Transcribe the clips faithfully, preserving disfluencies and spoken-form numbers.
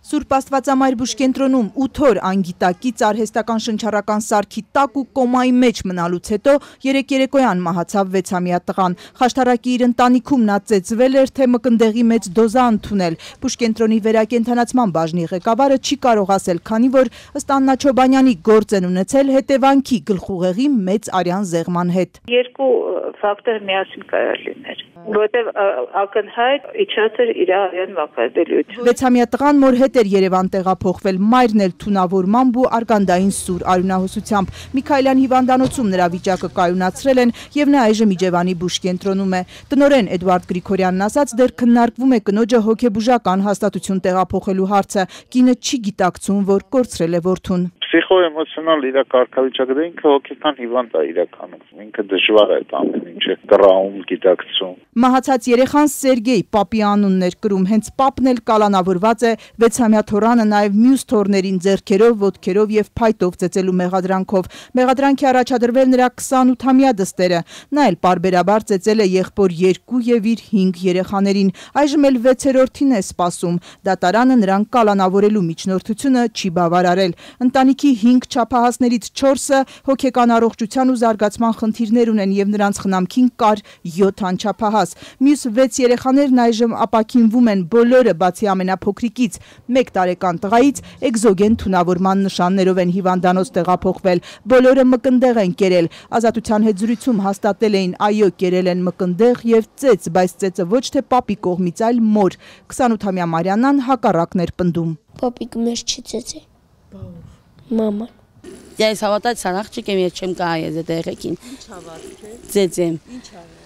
Սուրբ Աստվածամայր բուժկենտրոնում ութ օր անգիտակից արհեստական շնչառական սարքի տակ ու կոմայի մեջ մնալուց հետո երեկ երեկոյան մահացավ վեցամյա տղան։ Խաշտարակի իր ընտանիքում նա ծեծվել էր, թե մկնդեղի մեծ դոզա ընդունել։ Բուժկենտրոնի վերակենդանացման բաժնի ղեկավարը չի կարող ասել, քանի որ ըստ Աննա Չոբանյանի գործ են ունեցել հետևանքի գլխուղեղի մեծ արյան զեղման հետ։ Երկու ֆակտոր միասին կարող լիներ, որտեղ ակնհայտ իջած էր իր արյան վակայելիությունը։ Վեցամյա տղան մոր հետ էր Երևան տեղափոխվել, մայրն էլ թունավորմամբ ու արգանդային սուր արյունահոսությամբ։ Միքայելյան հիվանդանոցում նրա վիճակը կայունացրել են եւ նա այժմ Իջևանի բուժկենտրոնում է։ Տնօրեն Էդվարդ Գրիգորյանն ասաց, դեռ քննարկվում է կնոջը հոգեբուժական հաստատություն տեղափոխելու հարցը։ Կինը չի գիտակցում, որ կորցրել է որդուն։ Պսիխոէմոցիոնալ իր կարգավիճակը ինքը հոգեկան հիվանդ է իրականում, ինքը դժվար է ամեն ինչը կռահում, գիտակցում։ Մահացած երեխան Սերգեյ պապի անունն էր կրում, հենց պապն էլ կալանավորված է վեցամյա թորանը նաև մյուս թորներին ձեռքերով, ոտքերով եւ փայտով ծեծելու մեղադրանքով։ Մեղադրանքի առաջադրվել նրա քսանութամյա դստերը։ Նա էլ պարբերաբար ծեծել է եղբոր երկու եւ իր հինգ երեխաներին։ Այժմ էլ վեցերորդին է սպասում։ Դատարանը նրան կալանավորելու միջնորդությունը չի բավարարել։ Ընտանիքի հինգ չափահասներից չորսը հոգեկան առողջության ու զարգացման խնդիրներ ունեն եւ նրանց խնամքին կար յոթ անչափահաս։ Մյուս վեց երեխաներն այժմ ապաքինվում են, բոլորը բացի ամենափոքրիկից մեկ տարեկան տղայից էկզոգեն թունավորման նշաններով են հիվանդանոց տեղափոխվել։ Բոլորը մկնդեղ են կերել։ Ազատության հետ զրույցում հաստատել էին, այո, կերել են մկնդեղ եւ ծեծ, բայց ծեծը ոչ թե պապի կողմից, այլ մոր։ քսանութամյա Մարիանան հակառակն էր պնդում։ Պապիկը մեզ չի ծեծել։ Մաման։ Ես հավատաց սարախճիկ եմ, ես չեմ կահայ ես այդ երեխին։ Ինչ հավատք է։ Ծեծեմ։ Ինչ արել։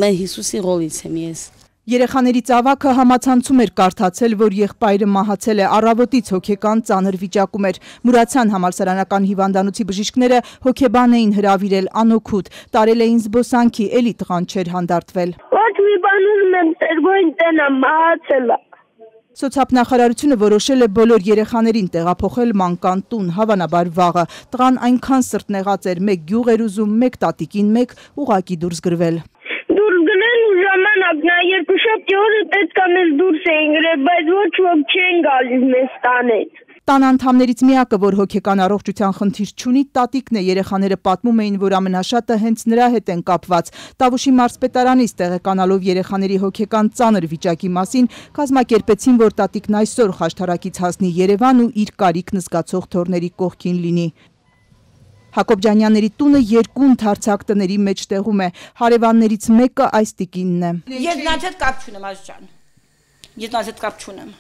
Mən Հիսուսի ռոլից եմ ես։ Երեխաների ծավաքը համացանցում էր կարդացել, որ եղբայրը մահացել է, առավոտից հոգեկան ծանր վիճակում էր։ Մուրացյան համալսարանական հիվանդանոցի բժիշկները հոգեբան էին հրավիրել անօգուտ, տարել էին զբոսանքի, էլի տղան չէր հանդարտվել։ Ոչ մի բան ուզում եմ Սերգոյին տենամ, մահացել է։ Սոցիալնախարարությունը որոշել է բոլոր երեխաներին տեղափոխել մանկան տուն, հավանաբար վաղը։ Տղան այնքան սրտնեղած էր, մեկ գյուղ էր ուզում, մեկ տատիկին, մեկ ուղակի դուրս գրվել։ Դուրս գնեն ու ժամանակ, նա երկուշաբթի օրը պետք է մեզ դուրս էին գրել, բայց ոչ ոք չեն գալիս մեզ տանեց։ Տան անդամներից միակը, որ հոգեկան առողջության խնդիր չունի, տատիկն է։ Երեխաները պատմում էին, որ ամենաշատը հենց նրա հետ են կապված։ Տավուշի մարզպետարանից տեղեկանալով երեխաների հոգեկան ծանր վիճակի մասին, կազմակերպեցին, որ տատիկն այսօր Խաշտարակից հասնի Երևան ու իր կարիքն զգացող թորների կողքին լինի։ Հակոբ Ջանյանների տունը երկու ընդարձակ տների մեջտեղում է։ Հարևաններից մեկը այս տիկինն է։ Ես նրանց հետ կապ չունեմ, Ազ ջան։ Ես նրանց հետ կապ չունեմ։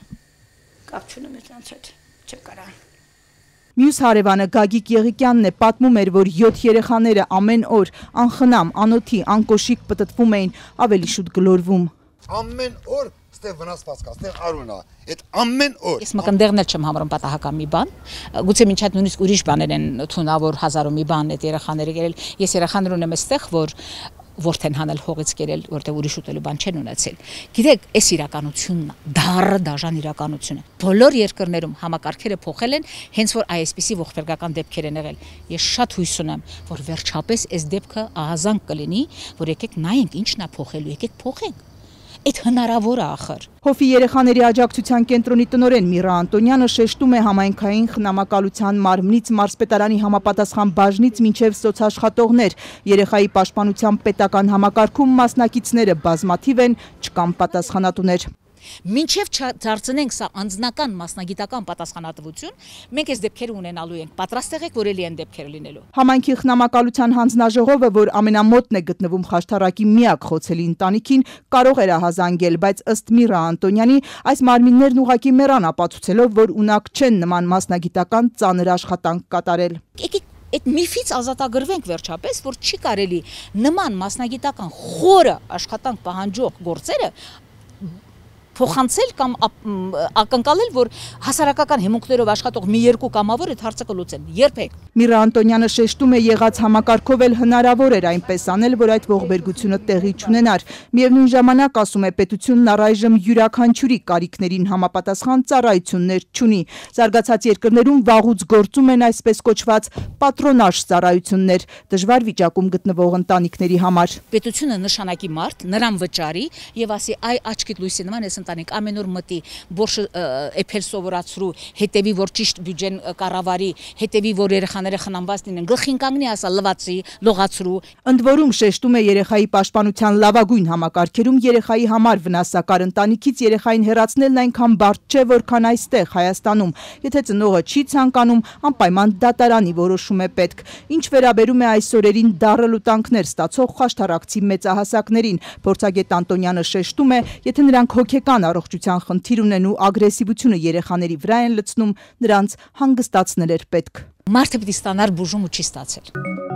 Կապ չունեմ նրանց հետ։ Չեմ կարող։ Մյուս հարևանը Գագիկ Եղիկյանն է, պատմում էր, որ յոթ երեխաները ամեն օր անխնամ, անոթի, անկոշիկ պտտվում էին, ավելի շուտ գլորվում։ Ամեն օր ստեղ վնասված կա, ստեղ արուն է, այդ ամեն օր։ Ես մկնդեղն էլ չեմ համարում պատահական մի բան, գուցե մինչ այդ նույնիսկ ուրիշ բաներ են թունավոր հազարով մի բան այդ երեխաները գերել։ Ես երեխաներ ունեմ այստեղ, որ որդեն հանել հողից կերել, որտեղ ուրիշ ուտելու բան չեն ունեցել։ Գիտեք, այս իրականությունն է, դառը դաժան իրականություն է։ Բոլոր երկրներում համակարգերը փոխել են, հենց որ այսպիսի ողբերգական դեպքեր են եղել։ Ես շատ հույս ունեմ, որ վերջապես այս դեպքը ահազանգ կլինի, որ եկեք նայենք ինչն է փոխելու, եկեք փոխենք։ Այդ հնարավոր է ախր։ Հովի երեխաների աջակցության կենտրոնի տնօրեն Միրա Անտոնյանը շեշտում է համայնքային խնամակալության մարմնից, մարզպետարանի համապատասխան բաժնից մինչև սոցաշխատողներ։ Երեխայի պաշտպանության պետական համակարգում մասնակիցները բազմաթիվ են, չկան պատասխանատուներ։ Մինչև չդարձնենք սա անձնական մասնագիտական պատասխանատվություն, մենք այս դեպքերը ունենալու ենք։ Պատրաստ եղեք, որ էլի են դեպքերը լինելու։ Համայնքի խնամակալության հանձնաժողովը, որ ամենամոտն է գտնվում Խաշտարակի միակ խոցելի ընտանիքին, կարող էր ահազանգել, բայց ըստ Միրա Անտոնյանի, այս մարմիններն ուղղակի մեռան ապացուցելով, որ ունակ չեն նման մասնագիտական ծանր աշխատանք կատարել։ Եկեք այդ միֆից ազատագրվենք վերջապես, որ չի կարելի նման մասնագիտական խորը աշխատանք պահանջող գործերը փոխանցել կամ ակնկալել, որ հասարակական հիմունքներով աշխատող մի երկու կամավոր այդ հարցը կլուծեն։ Երբեք։ Միրա Անտոնյանը շեշտում է, եղած համակարգով էլ հնարավոր էր այնպես անել, որ այդ ողբերգությունը տեղի չունենար։ Միևնույն ժամանակ, ասում է, պետությունն առայժմ յուրաքանչյուրի կարիքներին համապատասխան ծառայություններ չունի։ Զարգացած երկրներում վաղուց գործում են այսպես կոչված պատրոնաժ ծառայություններ, դժվար վիճակում գտնվող ընտանիքների համար։ Պետությունը նշանակի մարդ, նրան վճարի եւ ասի այ աչքիդ լույսի նման ես ընտանիք ամեն օր մտի, որ էփել սովորացրու, հետևի որ ճիշտ բյուջեն կառավարի, հետևի որ երեխաները խնամված լինեն, գլխին կանգնի ասա լվացի, լողացրու։ Ընդ որում շեշտում է երեխայի պաշտպանության լավագույն համակարգերում երեխայի համար վնասակար ընտանիքից երեխային հեռացնելն այնքան բարդ չէ, որքան այստեղ Հայաստանում։ Եթե ծնողը չի ցանկանում, անպայման դատարանի որոշում է պետք։ Ինչ վերաբերում է այս օրերին դառը լուտանքներ ստացող խաշթարակցի մեծահասակներին, փորձագետ Անտոնյանը շեշտում է, եթե նրանք հոգեկան առողջության խնդիր ունեն ու ագրեսիվությունը երեխաների վրա են լցնում, նրանց հանգստացնել էր պետք։ Մարդը պիտի ստանար բուժում ու չի ստացել։